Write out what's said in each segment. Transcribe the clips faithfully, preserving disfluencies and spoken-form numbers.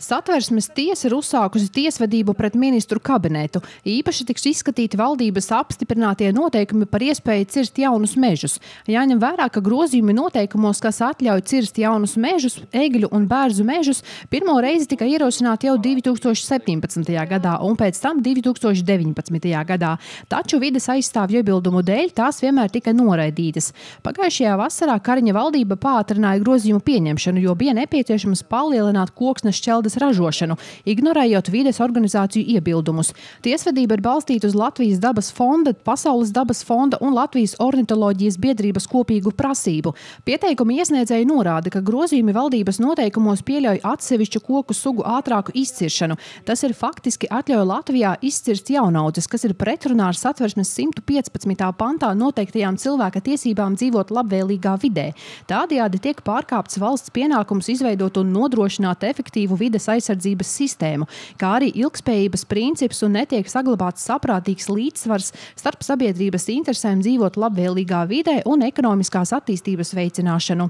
Satversmes tiesa ir uzsākusi tiesvedību pret ministru kabinetu. Īpaši tiks izskatīti valdības apstiprinātie noteikumi par iespēju cirst jaunus mežus. Jāņem vērā, ka grozījumi noteikumos, kas atļauj cirst jaunus mežus, egļu un bērzu mežus, pirmo reizi tika ierosināti jau divi tūkstoši septiņpadsmitajā gadā un pēc tam divi tūkstoši deviņpadsmitajā gadā. Taču vides aizstāvju iebildumu dēļ tās vienmēr tika noraidītas. Pagājušajā vasarā Kariņa valdība pātrināja grozījumu pieņemšanu, jo bija nepieciešams palielināt koksnes šķeldes ražošanu, ignorējot vides organizāciju iebildumus. Tiesvedība ir balstīta uz Latvijas dabas fonda, Pasaules dabas fonda un Latvijas ornitoloģijas biedrības kopīgu prasību. Pieteikuma iesniedzēji norāda, ka grozījumi valdības noteikumos pieļauj atsevišķu koku sugu ātrāku izciršanu. Tas ir faktiski atļauj Latvijā izcirst jaunaudzes, kas ir pretrunā ar Satversmes simt piecpadsmitā pantā noteiktajām cilvēka tiesībām dzīvot labvēlīgā vidē. Tādējādi tiek pārkāpts valsts pienākums izveidot un nodrošināt efektīvu vides aizsardzības sistēmu, kā arī ilgspējības princips un netiek saglabāts saprātīgs līdzsvars starp sabiedrības interesēm dzīvot labvēlīgā vidē un ekonomiskās attīstības veicināšanu.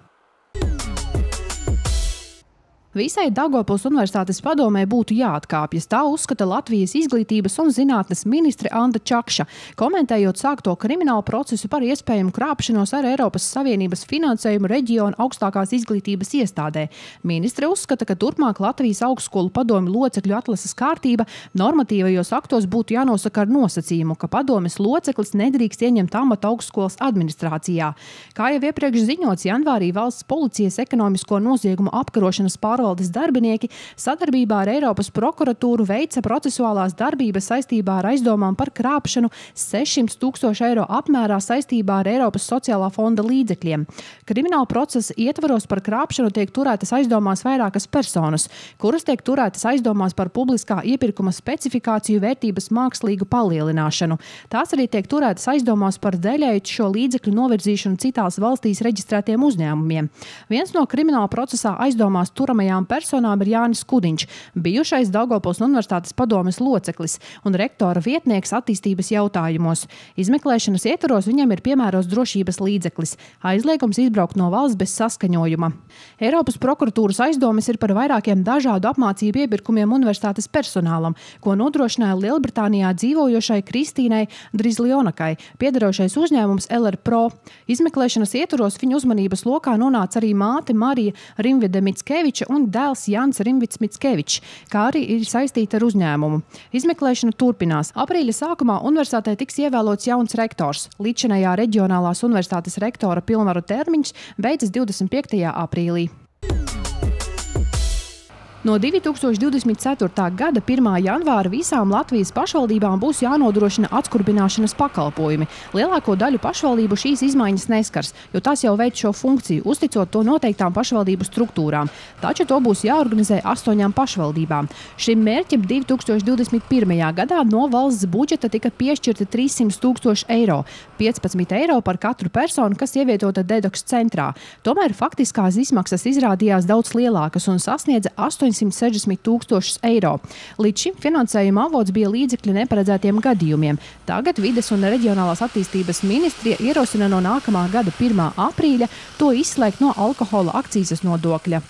Visai Daugavpils Universitātes padomē būtu jāatkāpjas. Tā uzskata Latvijas izglītības un zinātnes ministre Anda Čakša, komentējot sākto kriminālu procesu par iespējamu krāpšanos ar Eiropas Savienības finansējumu reģionu augstākās izglītības iestādē. Ministre uzskata, ka turpmāk Latvijas augstskolu padomi locekļu atlases kārtība normatīvajos aktos būtu jānosaka ar nosacījumu, ka padomes loceklis nedrīkst ieņemt amatu augstskolas administrācijā. Kā jau iepriekš ziņots, janvārī valsts policijas ekonomisko noziegumu apkarošanas pārvaldes Valdes darbinieki sadarbībā ar Eiropas prokuratūru veica procesuālās darbības saistībā ar aizdomām par krāpšanu sešsimt tūkstoši eiro apmērā saistībā ar Eiropas sociālā fonda līdzekļiem. Krimināla procesa ietvaros par krāpšanu tiek turētas aizdomās vairākas personas, kuras tiek turētas aizdomās par publiskā iepirkuma specifikāciju vērtības mākslīgu palielināšanu. Tās arī tiek turētas aizdomās par daļēju šo līdzekļu novirzīšanu citās valstīs reģistrētiem uzņēmumiem. Viens no krimināla procesā aizdomās turamajām personām ir Jānis Kudiņš, bijušais Daugavpils Universitātes padomes loceklis un rektora vietnieks attīstības jautājumos. Izmeklēšanas ietvaros viņam ir piemēros drošības līdzeklis, aizliegums izbraukt no valsts bez saskaņojuma. Eiropas prokuratūras aizdomas ir par vairākiem dažādu apmācību iepirkumiem universitātes personālam, ko nodrošināja Lielbritānijā dzīvojošai Kristīnai Drizljonakai, piederošais uzņēmums L R Pro. Izmeklēšanas ietvaros viņu uzmanības lokā nonāca arī māte Marija Rimvide Mickeviča un dēls Jans Rimvids Mickevičs, kā arī ir saistīta ar uzņēmumu. Izmeklēšana turpinās. Aprīļa sākumā universitātē tiks ievēlots jauns rektors. Līdzinājā reģionālās universitātes rektora pilnvaru termiņš beidzas divdesmit piektajā aprīlī. No divi tūkstoši divdesmit ceturtā gada pirmā janvāra visām Latvijas pašvaldībām būs jānodrošina atskurbināšanas pakalpojumi. Lielāko daļu pašvaldību šīs izmaiņas neskars, jo tās jau veic šo funkciju, uzticot to noteiktām pašvaldību struktūrām. Taču to būs jāorganizē astoņām pašvaldībām. Šim mērķim divi tūkstoši divdesmit pirmajā gadā no valsts budžeta tika piešķirti trīssimt tūkstoši eiro, piecpadsmit eiro par katru personu, kas ievietota Dedoks centrā. Tomēr faktiskās izmaksas izrādījās daudz lielākas un sasniedza astoņsimt sešdesmit tūkstošus eiro. Līdz šim finansējuma avots bija līdzekļi neparedzētiem gadījumiem. Tagad vides un reģionālās attīstības ministrija ierosina no nākamā gada pirmā aprīļa to izslēgt no alkohola akcīzes nodokļa.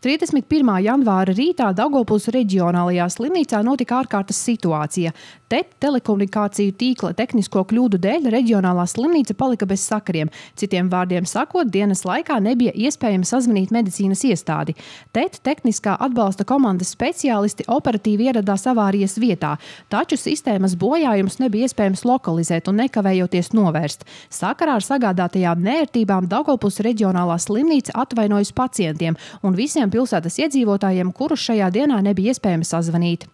trīsdesmit pirmā janvāra rītā Daugavpils reģionālajā slimnīcā notika ārkārtas situācija. Te telekomunikāciju tīkla tehnisko kļūdu dēļ reģionālā slimnīca palika bez sakariem. Citiem vārdiem sakot, dienas laikā nebija iespējams sazvanīt medicīnas iestādi. Te tehniskā atbalsta komandas speciālisti operatīvi ieradās avārijas vietā, taču sistēmas bojājums nebija iespējams lokalizēt un nekavējoties novērst. Sakarā ar sagādātajām neērtībām Daugavpils reģionālā slimnīca atvainojas pacientiem un visiem pilsētas iedzīvotājiem, kurus šajā dienā nebija iespējams sazvanīt.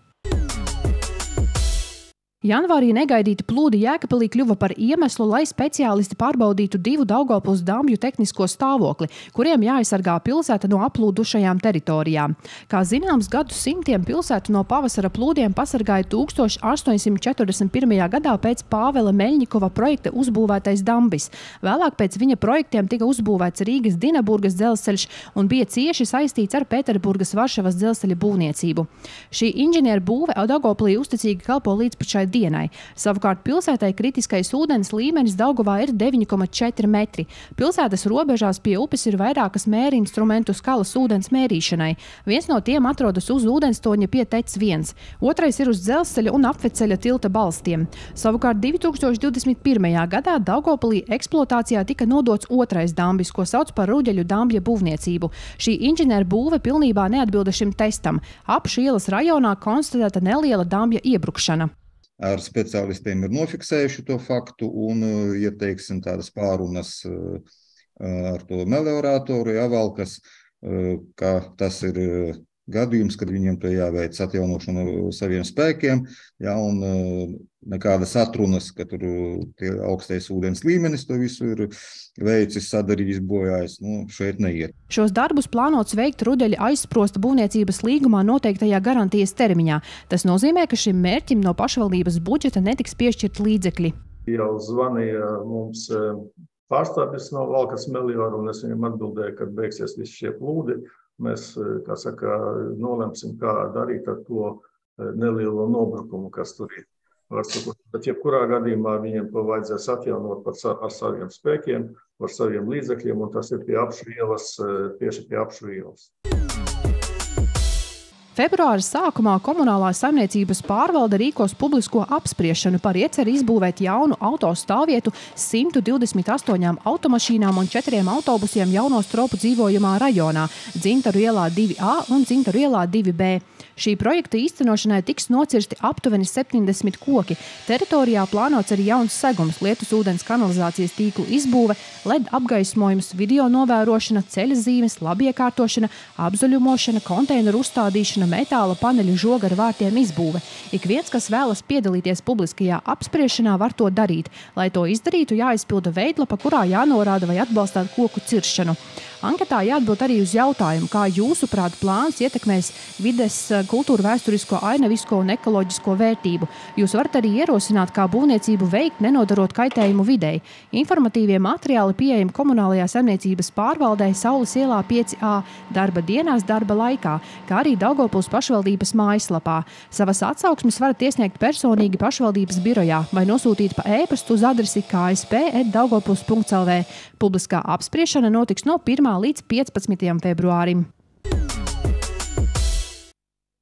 Janvārī negaidīti plūdi Jēkabpilī kļuva par iemeslu, lai speciālisti pārbaudītu divu Daugavpils dambju tehnisko stāvokli, kuriem jāaizsargā pilsēta no aplūdušajām teritorijām. Kā zināms, gadu simtiem pilsētu no pavasara plūdiem pasargāja tūkstoš astoņsimt četrdesmit pirmajā gadā pēc Pāvela Meļņikova projekta uzbūvētais dambis. Vēlāk pēc viņa projektiem tika uzbūvēts Rīgas Dinaburgas dzelzceļš un bija cieši saistīts ar Pēterburgas Varšavas dzelzceļa būvniecību. Šī inženieru būve Daugavpilī uzticīgi kalpo līdz pat šai dienai. Savukārt pilsētai kritiskais ūdens līmenis Daugavā ir deviņi komati četri metri. Pilsētas robežās pie upes ir vairākas mērinstrumentu skalas ūdens mērīšanai. Viens no tiem atrodas uz ūdenstoņa pie T E C viens, otrais ir uz dzelzceļa un apveceļa tilta balstiem. Savukārt divi tūkstoši divdesmit pirmajā gadā Daugavpilī eksploatācijā tika nodots otrais dambis, ko sauc par Ruģeļu dambja būvniecību. Šī inženieru būve pilnībā neatbilda šim testam. Apšu ielas rajonā konstatēta neliela dambja iebrukšana. Ar speciālistiem ir nofiksējuši to faktu un, ja teiksim, tādas pārunas ar to meliorātoru jāvalkas, ka tas ir gadījums, kad viņiem to jāveic atjaunošanu saviem spēkiem, ja, un nekādas atrunas, ka tur tie augstais ūdens līmenis to visu ir veicis, sadarījis, bojājis, nu, šeit neiet. Šos darbus plānots veikt Ruģeļa aizsprosta būvniecības līgumā noteiktajā garantijas termiņā. Tas nozīmē, ka šim mērķim no pašvaldības budžeta netiks piešķirt līdzekļi. Jau zvanīja mums pārstāvis no Valkas Melioru, un es viņam atbildēju, kad beigsies visi šie plūdi. Mēs, kā saka, nolemsim, kā darīt ar to nelielo nobrukumu, kas tur ir. Bet jebkurā gadījumā viņiem to vajadzēs atjaunot ar saviem spēkiem, ar saviem līdzekļiem, un tas ir pie Apšu ielas, tieši pie Apšu ielas. Februāra sākumā komunālā saimniecības pārvalde rīkos publisko apspriešanu par ieceri izbūvēt jaunu autostāvvietu simtu divdesmit astoņām automašīnām un četriem autobusiem jauno stropu dzīvojamā rajonā – Dzintaru ielā divi A un Dzintaru ielā divi B. Šī projekta īstenošanai tiks nocirsti aptuveni septiņdesmit koki. Teritorijā plānots arī jauns segums, lietus ūdens kanalizācijas tīklu izbūve, L E D apgaismojums, video novērošana, ceļa zīmes, labiekārtošana, apzaļumošana, konteineru uzstādīšana, metāla paneļu žoga ar vārtiem izbūve. Ik viens, kas vēlas piedalīties publiskajā apspriešanā, var to darīt. Lai to izdarītu, jāizpilda veidlapa, kurā jānorāda vai atbalstāt koku ciršanu. Anketā jāatbild arī uz jautājumu, kā jūsuprāt plāns ietekmēs vides, kultūru vēsturisko, ainavisko un ekoloģisko vērtību. Jūs varat arī ierosināt, kā būvniecību veikt, nenodarot kaitējumu videi. Informatīvie materiāli pieejami komunālajā saimniecības pārvaldē Saules ielā pieci A darba dienās darba laikā, kā arī Daugavpils pašvaldības mājaslapā. Savas atsauksmes varat iesniegt personīgi pašvaldības birojā vai nosūtīt pa e-pastu uz adresi k s p at daugavpils punkts l v. Publiskā apspriešana notiks no pirmā līdz piecpadsmitajam februārim.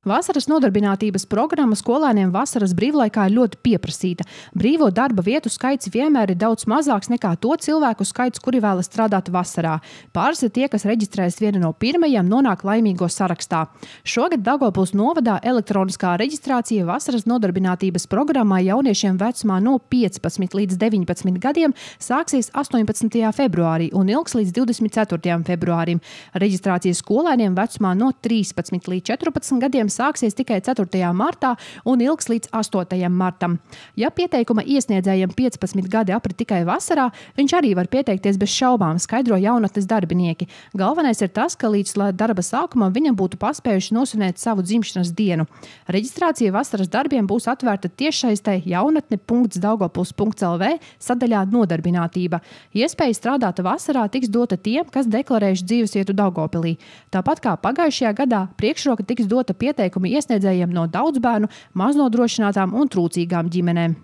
Vasaras nodarbinātības programma skolēniem vasaras brīvlaikā ir ļoti pieprasīta. Brīvo darba vietu skaits vienmēr ir daudz mazāks nekā to cilvēku skaits, kuri vēlas strādāt vasarā. Pāris ir tie, kas reģistrējas viena no pirmajiem, nonāk laimīgo sarakstā. Šogad Daugavpils novadā elektroniskā reģistrācija vasaras nodarbinātības programmā jauniešiem vecumā no piecpadsmit līdz deviņpadsmit gadiem sāksies astoņpadsmitajā februārī un ilgs līdz divdesmit ceturtajam februārim. Reģistrācija skolēniem vecumā no trīspadsmit līdz četrpadsmit gadiem sāksies tikai ceturtajā martā un ilgs līdz astotajam martam. Ja pieteikuma iesniedzējiem piecpadsmit gadi aprit tikai vasarā, viņš arī var pieteikties bez šaubām, skaidro jaunatnes darbinieki. Galvenais ir tas, ka līdz darba sākumam viņam būtu paspējuši nosvinēt savu dzimšanas dienu. Reģistrācija vasaras darbiem būs atvērta tiešsaistē jaunatne punkts daugavpils punkts l v sadaļā nodarbinātība. Iespēja strādāt vasarā tiks dota tiem, kas deklarējuši dzīvesvietu Daugavpilī. Tāpat kā pagājušajā gadā, priekšroka tiks dota pieteikuma iesniedzējiem no daudzbērnu, maznodrošinātām un trūcīgām ģimenēm.